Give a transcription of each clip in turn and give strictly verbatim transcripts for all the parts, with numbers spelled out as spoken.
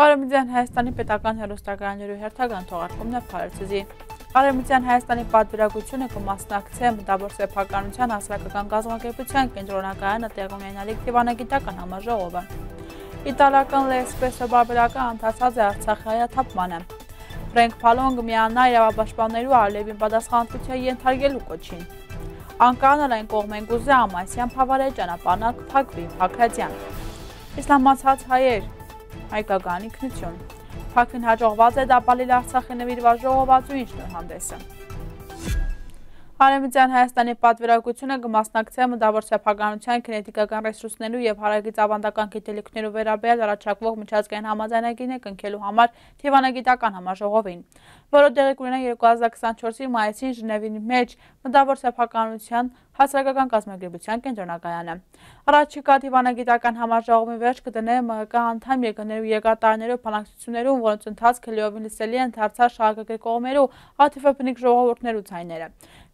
Արևմտյան Հայաստանի պետական հեռուստակայաններու հերթական թողարկումն է Փարեզի։ Արևմտյան Հայաստանի պատվիրակութիւնը կը մասնակցէ մտաւոր սեփականութեան հասարակական կազմակերպութեան կենտրոնակայանը տեղի ունենալիք դիվանագիտական համաժողովը։ Իտալական Լեսպրեսո պարբերականը անդրադարձած է Արցախի հայաթափմանը։ Ֆրենկ Փալոն կը միանայ իրաւապաշտպաններու Ալիևին պատասխանատուութեան ենթարկելու կոչին։ Անկան ալ այն կողմէն կ'ուզէ Ամասեան բաւարեան ճանապարհն ալ կը փակուի, Բագրատեան։ Իսլամացած հայեր, հայկական ինքնություն։ Փակուին յաջողուած է Դապալիլ Արցախի նուիրուած ժողովածուին շնորհանդեսը։ Արևմտյան Հայաստանի պատվիրակութիւնը կը մասնակցէ մտաւոր սեփականութեան, գենետիկական ռեսուրսներու եւ հարակից աւանդական գիտելիքներու վերաբերյալ առաջարկուող միջազգային համաձայնագիրը կնքելու համար դիվանագիտական համաժողովին, որը տեղի կունենայ երկու հազար քսանչորսի մայիսին Ժնեւի մէջ մտաւոր սեփականութեան հասարակական կազմակերպութեան կենտրոնակայանը։ Առաջիկայ դիվանագիտական համաժողովին վերջ կը դնէ Մ Ղ Կ անդամ երկրներու երկրատարիներու բանակցութիւններուն, որոնց ընթացքը լիովին լսելի են դարձած շարակակի կողմերու աթիվաբնիկ ժողովուրդներու ձայները։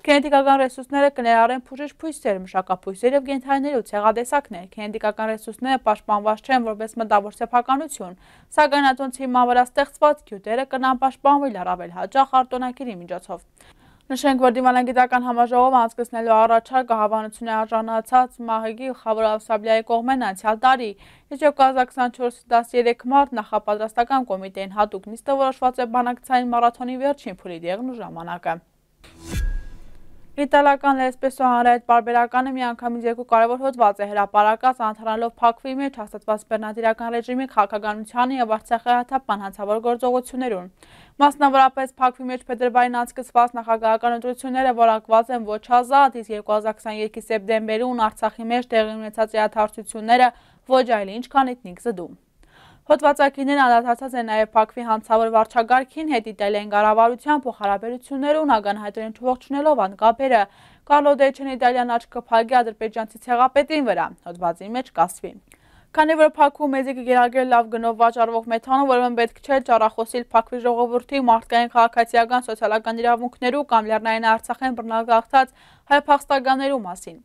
Գենետիկական ռեսուրսները կը ներառեն բուժիչ բոյսեր, մշակաբոյսեր եւ կենդանիներու ցեղատեսակներ։ Գենետիկական ռեսուրսները պաշտպանուած չեն որպէս մտաւոր սեփականութիւն, սակայն ատոնց հիման վրայ ստեղծուած գիւտերը կրնան պաշտպանուիլ առավել յաճախ արտօնագիրի միջոցով։ Նշենք, որ դիվանագիտական համաժողովը անցկացնելու առաջարկը հովանոցին է արժանացած Մ Ղ Կ-ի գլխաւոր Աւսաբլիայի կողմէն անցեալ տարի, իսկ երկու հազար քսանչորսի տասներեք մարտ նախապատրաստական կոմիտեին յատուկ նիստը որոշուած է բանակցային մարաթոնի վերջին փուլի դեղն ու ժամանակը։ Իտալական Լեսպրեսո հանրայեթ պարբերականը միանգամից երկու կարեւոր հոդուած է հրապարակած, անդրադառնալով Բաքվի մէջ հաստատուած բռնատիրական ռեժիմի քաղաքականութեան եւ Արցախի հայաթափման հանցաւոր գործողութիւններուն։ Մասնավորապես Բաքվի մէջ փետրուարին անցկացուած նախագահական ընտրութիւնները որակուած են ոչ ազատ, իսկ երկու հազար քսաներկուի սեպտեմբերին Արցախի մէջ տեղի ունեցած իրադարձութիւնները ոչ այլ ինչ, քան էթնիկ զտում։ Հոդվածագիրներն անդրադարձած են նաեւ Բաքվի հանցաւոր վարչակարգին հետ Իտալիայի կառավարութեան փոխհարաբերութիւններուն, ականահայտորեն չողջունելով ան կապերը։ Կարլո Դեչեն Իտալիան աչքը փակի ադրբեջանցի ցեղապետին վրայ, հոդվածին մէջ կ'ասուի։ Քանի որ Բաքու մեզի կը կիրարկէ լաւ գնով վաճառվող մեթանոլ, ուրեմն պէտք չէ ճառախոսիլ Բաքվի ժողովուրդի մարդկային, քաղաքացիական, սոցիալական իրաւունքներու կամ Լեռնային Արցախէն բռնագաղթած հայ փախստականներու մասին։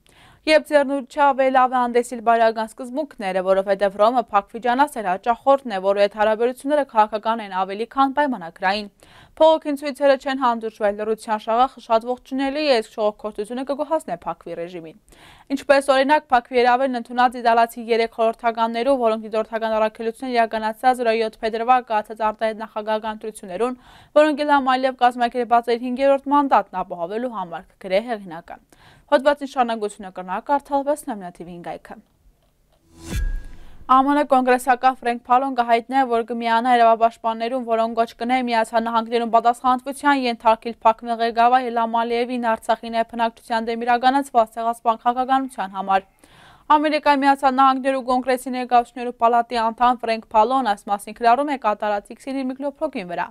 Երբ ձեռնունչա վելաւը հանդեսիլ բարեական սկզբունքները, որովհետեւ Հռոմը Բաքվի ջանասեր հաճախորդն է, որու հետ հարաբերութիւնները քաղաքական են ավելի քան պայմանագրային։ Բողոքին ցոյցերը չեն հանդուրժուել, լռութեան շաղախը շատ ողջունելի է, իսկ շողոքորթութիւնը կը գոհացնէ Բաքվի ռեժիմին։ Ինչպես օրինակ, Բաքվի հրաւէրն ընդունած իտալացի երեք խորհրդականներու, որոնք դիտորդական առաքելութիւններ իրականացրած օրը յոթ փետրուար կայացած արտահայտ նախագահական ընտրութիւններուն, որոնք Իլհամ Ալիեւ կազմակերպած էր հինգերորդ մանդատն ապահովելու համար, կը գրէ հեղինակը։ Հոդուածին շարունակութիւնը կրնայ կարդալ Վեսնամնա Թի Վի-ին կայքը։ Ա Մ Ն կոնգրեսական Ֆրենկ Փալոն կը յայտնէ, որ կը միանայ իրաւապաշտպաններուն, որոնք կոչ կ'ընեն Միացյալ Նահանգներուն պատասխանատուութեան ենթարկիլ Բաքվի ղեկավար Իլհամ Ալիեւին Արցախի նեփնակցութեան դէմ իրականացուած ցեղասպան քաղաքականութեան համար։ Ամերիկայի Միացյալ Նահանգներու Կոնգրեսի ներկայացուցիչներու պալատի անդամ Ֆրենկ Փալոն այս մասին գրառում է կատարած X-ին իր միկրոբլոգին վրայ։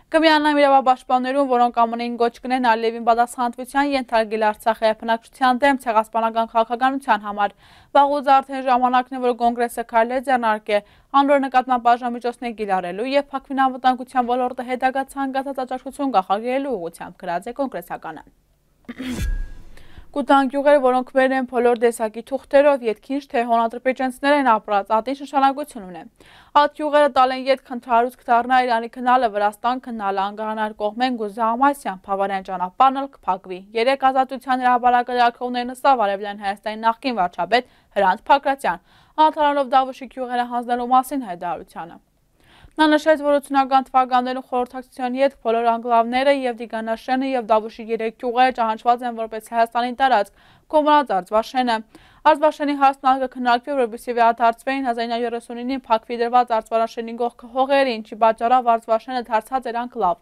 Կը միանամ իրաւապաշտպաններուն, որոնք Ա Մ Ն-ին կոչ կ'ընեն Ալիեւին պատասխանատուութեան ենթարկիլ Արցախի բնակչութեան դէմ ցեղասպանական քաղաքականութեան համար։ Վաղուց արդէն ժամանակն է, որ Կոնգրեսը քայլեր ձեռնարկէ անոր նկատմամբ բաժնամիջոցներ կիրառելու եւ Բաքվին անվտանգութեան ոլորտը հետագայ ցանկացած աջակցութիւն կանխարգելելու ուղղութեամբ, գրած է կոնգրեսականը։ Կու տան գիւղեր, որոնք մերն են բոլոր տեսակի թուղթերով, ետք ինչ թէ հոն ադրբեջանցիներ են ապրած, ատին նշանակութիւն ունի։ Այդ գիւղերը տալէն ետք, ընդհանուր կը դառնայ Իրանի գնալը, Վրաստան գնալը, անկախանար կողմէն կ'ուզէ Ամասեան բաւարեան ճանապարհն ալ կը փակուի։ Երեկ Ազատութեան հրապարակը լրագրողներուն ըսաւ Արեւելյան Հայաստանի նախկին վարչապետ Հրանդ Բագրատեան, անդրադառնալով Դավուշի գիւղերը յանձնելու մասին հայտարարությանը։ Նա նշեց, որ ութսունական թվականներուն խորհրդակցութեան ետք բոլոր անկլավները, եւ Տիգանաշէնը, եւ Դավուշի երեք գիւղերը, ճանաչուած են որպէս Հայաստանի տարածք, կոմարած Արծվաշէնը։ Արծվաշէնի հարցն ալ կը քննարկուի, որպէսզի վերադարձուին հազար ինը հարիւր երեսունինին Բաքվի դրուած Արծվաշէնի կողքը հողերը, ինչի պատճառաւ Արծվաշէնը դարձած էր անկլավ։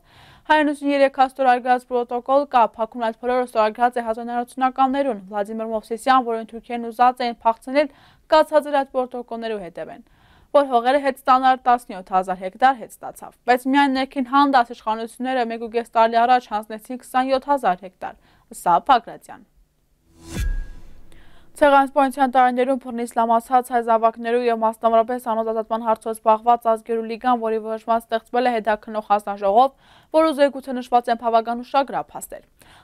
Հայերէնութիւնը երեկ ստորագրած պրոտոկոլ կայ, Բաքուն այդ բոլորը ստորագրած է հազար ինը հարիւր ութսունականներուն։ Վլադիմիր Մովսիսեան, որին թուրքերն ուզած էին փախցնել, կացած էր այդ պրոտոկոլներու հետեւէն, որ հողերը հետ ստանար տասնեօթ հազար հեկտար, հետ ստացաւ։ Բայց միայն ներքին հանդաս իշխանութիւնները մէկ ու կէս տարի առաջ յանձնեցին քսանեօթ հազար հեկտար, ըսաւ Բագրատեան։ Ցեղասպանութեան տարիներուն բռնի սլամացած հայ զաւակներու եւ մասնավորապէս անոնց ազատման հարցով զբաղուած Ազգերու լիգան, որի որոշման ստեղծուելը հետաքննող հանձնաժողով, որու զեկուցը նշուած են բաւական ուշագրաւ փաստեր։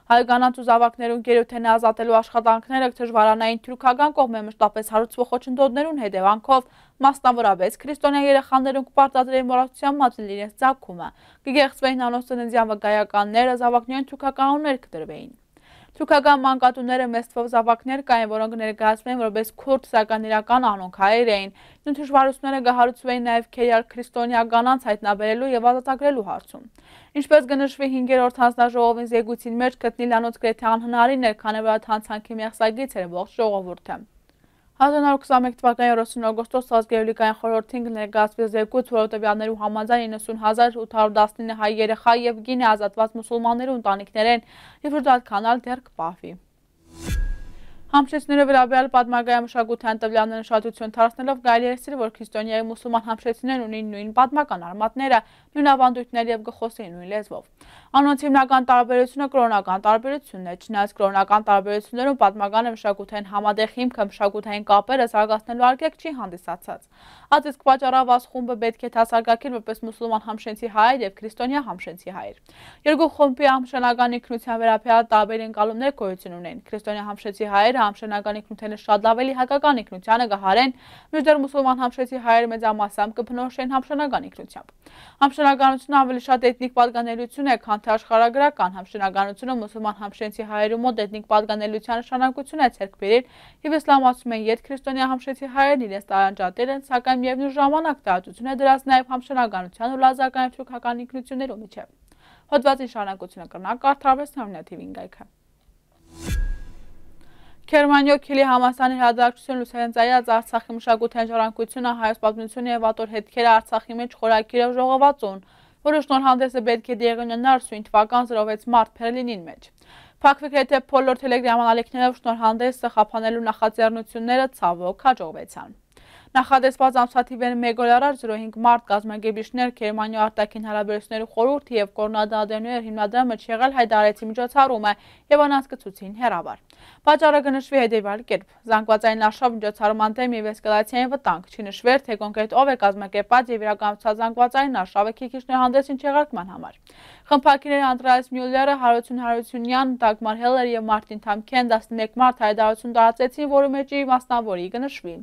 Հայ կանանց ու զաւակներուն գերութենէ ազատելու աշխատանքները կը դժուարանային թուրքական կողմէ մշտապէս հարուցուող խոչընդոտներուն հետեւանքով, մասնավորապէս քրիստոնեայ երեխաներուն կը պարտադրէին մոռացութեան մատնել իրենց ծագումը, կը գեղցուէին անոնց ծննդեան վկայականները, զաւակներուն թուրքական անուններ կը տրուէին։ Թուրքական մանկատունները մեծ թվով զաւակներ կային, որոնք ներկայացուէին որպէս քուրդ, սակայն իրական անոնք հայեր էին։ Նոյն դժուարութիւնները կը հարուցուէին նաեւ քերեալ քրիստոնեայ կանանց յայտնաբերելու եւ ազատագրելու հարցում։ Ինչպէս կը նշուի, հինգերորդ հանձնաժողովին զեկույցին մէջ գտնել անոնց գրեթէ անհնարին էր, քանի որ այդ հանցանքի մեղսագիծ էր ողջ ժողովուրդը։ Հազար նոր քսանմեկ թվականի երեսուն օգոստոս Ազգերու լիգային խորհրդին կը ներկայացուի զեկույց, որով տվեալներու համաձայն իննսուն հազար ութ հարիւր տասնինը հայ երեխայ եւ կին է ազատուած մուսուլմաններու ընտանիքներէն, եւ շուրջ այդքան ալ դեռ կը պահուի։ Համշեցիներու վերաբերյալ պատմական մշակութային տվեալներն ուշադրութիւն դարձնելով՝ կարելի է ասել, որ քրիստոնեայ մուսուլման համշեցիներն ունին նոյն պատմական արմատները, նոյն աւանդոյթները եւ կը խօսին նոյն լեզուով։ Անոնց հիմնական տարբերութիւնը կրօնական տարբերութիւնն է, չնայած կրօնական տարբերութիւններուն պատմական մշակութային համատեղ հիմքը մշակութային կապերը զարգացնելու արգելք չի հանդիսացած։ Այդ իսկ պատճառով այս խումբը պէտք է դասակարգին որպէս մուսուլման համշեցի հայեր եւ քրիստոնեայ համշեցի հայեր։ Երկու խումբի համշենական ինքնութեան վերաբերյալ տարբեր ընկալումներ գոյութիւն ունեն։ Քրիստոնեայ համշեցի հայերը համշենական ինքնութենէ շատ աւելի հայկական ինքնութեանը կը յարեն, մինչդեռ մուսուլման համշեցի հայերը մեծամասամբ կը բնորոշեն համշենական ինքնութեամբ։ Համշենականությունը աւելի շատ էթնիկ պատկանելիություն է, քան թե աշխարհագրական։ Համշենականությունը մուսուլման համշեցի հայերու մօտ էթնիկ պատկանելիության նշանակութիւն է ձեռք բերել, եւ իսլամացում են յետ քրիստոնեայ համշեցի հայերն իրենց տարանջատել են, սակայն միեւնոյն ժամանակ տարածութիւն է դրած նաեւ համշենականութեան ու լազական եւ թուրքական ինքնութիւններու միջեւ։ Հոդուածին շարունակութիւնը կրնանք կարդալ Արմենիա թիվին կայքը։ Գերմանիոյ Քիլի համալսարանի հրատարակչութիւնը լուսաձայնած Արցախի մշակութային ժառանգությունը, հայոց պատմությունը եւ ատոր հետքերը Արցախի մէջ խորագիրով ժողովածուն, որու շնորհանդեսը պէտք է տեղի ունենար սոյն թուական զրո վեց մարտ Բերլինին մէջ։ Փակուի գրեթէ բոլոր Թելեգրաման ալիքներով շնորհանդեսը խափանելու նախաձեռնութիւնները, ցաւոք, հաջողուեցան։ Նախատեսուած ամսաթիվէն մէկ օր առաջ, զրո հինգ մարտ, կազմակերպիչներ Գերմանիոյ արտաքին հարաբերություններու խորհուրդը եւ Կոնրադ Ադենոյեր հիմնադրամը եղել հայտարարեցին միջոցառումը եւ անհասկացուցին հեռավար։ Պատճառը կը նշուի հետեւյալ կերպ. զանգվածային արշաւ միջոցառման դէմ եւ էսկալացիային վտանգ, չի նշուեր, թե կոնկրետ ով է կազմակերպած եւ իրականացած զանգվածային արշաւը քիչ շնորհանդեսին չեղարկման համար։ Խմբագիրները Անդրեաս Միուլլերը, Հարություն Հարությունեան, Դագմար Հելլեր եւ Մարտին Թամքեն տասնմէկ մարտ հայտարարութիւն տարածեցին, որու մէջ ի մասնաւորի կը նշուի.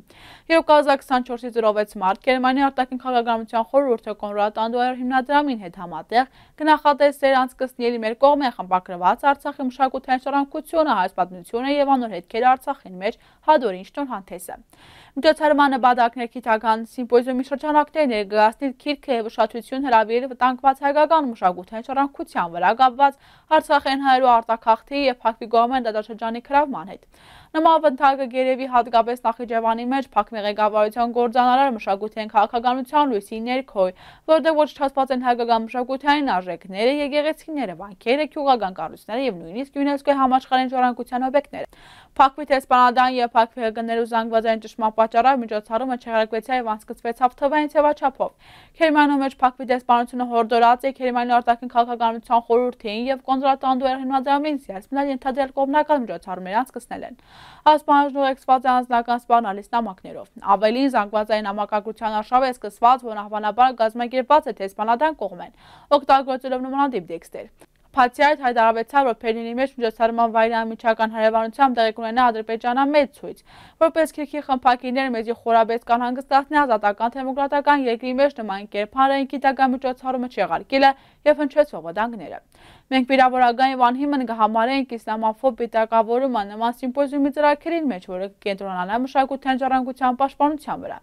Երկու հազար քսանչորսի զրո վեց մարտ Գերմանիոյ արտաքին քաղաքականության խորհուրդը Կոնրադ Ադենոյեր հիմնադրամին հետ համատեղ կը նախատեսէր անցկացնել մեր կողմէ խմբագրուած Արցախի մշակութային ժառանգությունը, հայոց պատմությունը եւ անոր հետքերը Արցախին մէջ հատորին շնորհանդեսը։ Միջոցառման նպատակն էր գիտական սիմպոզիումի շրջանակներ ներկայացնել, գիրքը եւ ուշադրութիւն հրաւիրել վտանգուած հայկական մշակութային ժառանգության վրա կապուած Արցախէն հայերու արտագաղթի եւ Փակուի կողմէն դատաշրջանի գրաւման հետ։ Նման վտանգը կ'երեւի յատկապէս Նախիջեւանի մէջ Փակուի ղեկավարութեան կ'որձանար մշակութային քաղաքականութեան լոյսի ներքոյ, որտեղ ոչնչացուած են հայկական մշակութային արժեքները, եկեղեցիները, վանքերը, գիւղական կառոյցները եւ նոյնիսկ ЮNESCO-ի համաշխարհային ժառանգության օբյեկտները։ Փակուի դեսպանատան եւ Փակուի ՀԿ-ներու զանգվածային ճնշման պատճառով միջոցառումը չեղարկուեցաւ եւ անցկացուեցաւ թվային ձեւաչափով։ Գերմանիոյ մէջ Փակուի դեսպանությունը յորդորած է Գերմանիոյ արտաքին քաղաքականության խորհուրդին եւ Կոնրադ Ադենոյեր հիմնադրամին զերծ մնալ ենթադրյալ կողմնակալ միջոցառումներ անցկացնելէն։ Այս պահանջն ուղեկցուած է անձնական սպառնալից նամակներով։ Աւելին, զանգվածային համակարգութեան արշաւ է սկսուած, որ անհավանաբար կազմակերպուած է դեսպանատան կողմէն, օգտագործելով նմանատիպ տեքստեր։ Բացի այդ, հայտարարուեցաւ, որ Բերլինի մէջ միջոցառման վայրի անմիջական հարեւանությամբ տեղի կունենայ Ադրբեջանեայ մեծ ցոյց։ Որպէս Քիրքի խմբագիրներ, մեզի խորապէս կ'անհանգստացնէ ազատական դեմոկրատական երկրի մէջ նման կերպարային գիտական միջոցառումը չեղարկելը եւ հնչեցող վտանգները։ Մենք վիրավորական եւ անհիմն կը համարենք իսլամաֆոբ պիտակավորումը նման սիմպոզիումի ծրագիրին մէջ, որը կը կենտրոնանայ մշակութային ժառանգության պաշտպանության վրա։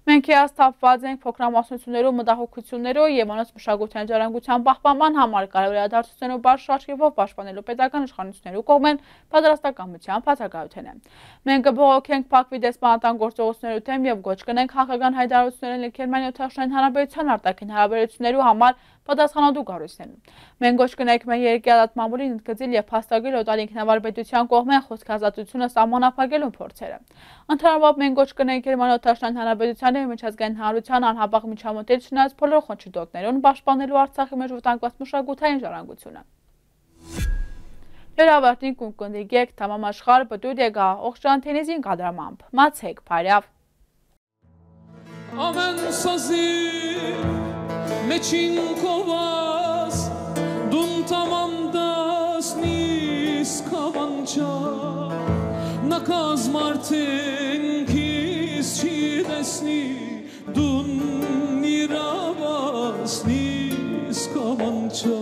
Մենք հիասթափուած ենք փոքրամասնություններու մտահոգություններով եւ անոնց մշակութային ժառանգության պահպանման համար կարեւոր իրադարձություններու բարձր աչքերով պաշտպանելու պետական իշխանություններու կողմէն պատրաստակամության բացակայութենէ։ Մենք կը բողոքենք Փակուի դեսպանատան գործողություններու դէմ եւ կոչ կ'ընենք հակական հայտարարություններ անել Գերմանիոյ Թաշնային Հանրապետութեան արտաքին հարաբերություններու համար պատասխանատու կառոյցներուն։ Մենք կոչ կ'ընենք մեր երկրի ազատ մամուլին ընդգծել եւ փաստագրել օտար ինքնավար պետութեան կողմէ խօսքի ազատությունը սահմանափակելու փորձերը։ Ընդհանրապ մենք կոչ կ'ընենք Գերմանիոյ Թաշնային Հանրապետութեանը եւ միջազգային հանրութեանը անհապաղ միջամտել, չնայած բոլոր խոչընդոտներուն, պաշտպանելու Արցախի մէջ վտանգուած մշակութային ժառանգությունը։ Հրավարտին կունկնդի գեկ թամամ աշխարհ պտուտ եկայ Օղջան Թենիզին կատարմամբ։ Մացեք բարեաւ։ Ամեն սազի մեջին կոված, դուն թամամ դասնիս քամանչա, նակազ մարդեն քիզ չի տեսնի, դուն իրավասնիս քամանչա,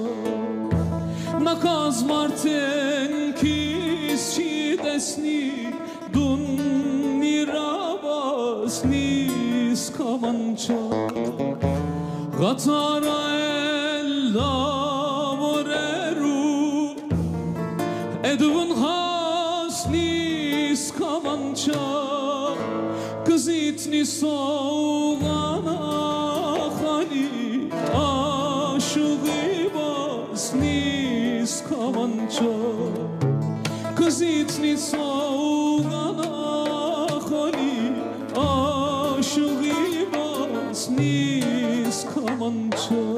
նակազ մարդեն քիզ չի տեսնի, դուն իրավասնիս քամանչա, ղաթարայել լաւորերու էդվն հասնիս քամանչա, կզիտնի սողանախալի աշուղի վասնիս քամանչա, կզիտնի սողանախալի աշուղի վասնիս քամանչա։